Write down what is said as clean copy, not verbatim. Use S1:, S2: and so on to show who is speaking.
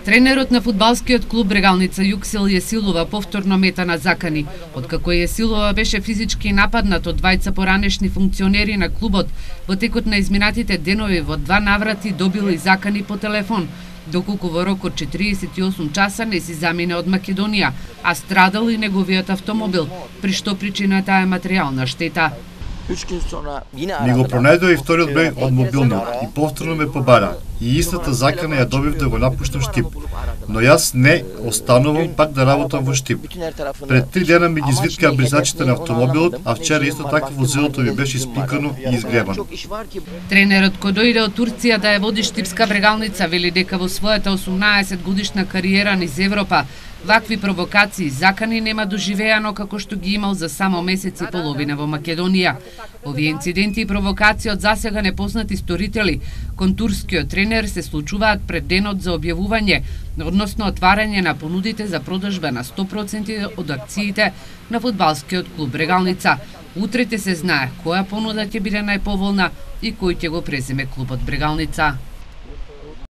S1: Тренерот на фудбалскиот клуб Брегалница Јуксел Јесилова повторно мета на закани. Откако Јесилова беше физички нападнат од двајца поранешни функционери на клубот, во текот на изминатите денови во 2 наврати добил и закани по телефон, доколку во рок од 48 часа не си замине од Македонија, а страдал и неговиот автомобил, при што причината е материјална штета.
S2: Ми го пронајдоа и вториот број од мобилниот и повторно ме побара. И истата закана ја добив да го напуштам Штип. Но јас не останувам пак да работам во Штип. Пред 3 дена ми ги извиткаа бризачите на автомобилот, а вчера исто така возилото ми беше испикано и изгребано.
S1: Тренерот кој дојде од Турција да ја води Штипска Брегалница вели дека во својата 18 годишна кариера низ Европа вакви провокации и закани нема доживеано како што ги имал за само месец и половина во Македонија. Овие инциденти и провокации од засега непознати сторители кон турскиот тренер се случуваат пред денот за објавување, односно отварање на понудите за продажба на 100% од акциите на фудбалскиот клуб Брегалница. Утре се знае која понуда ќе биде најповолна и кој ќе го преземе клубот Брегалница.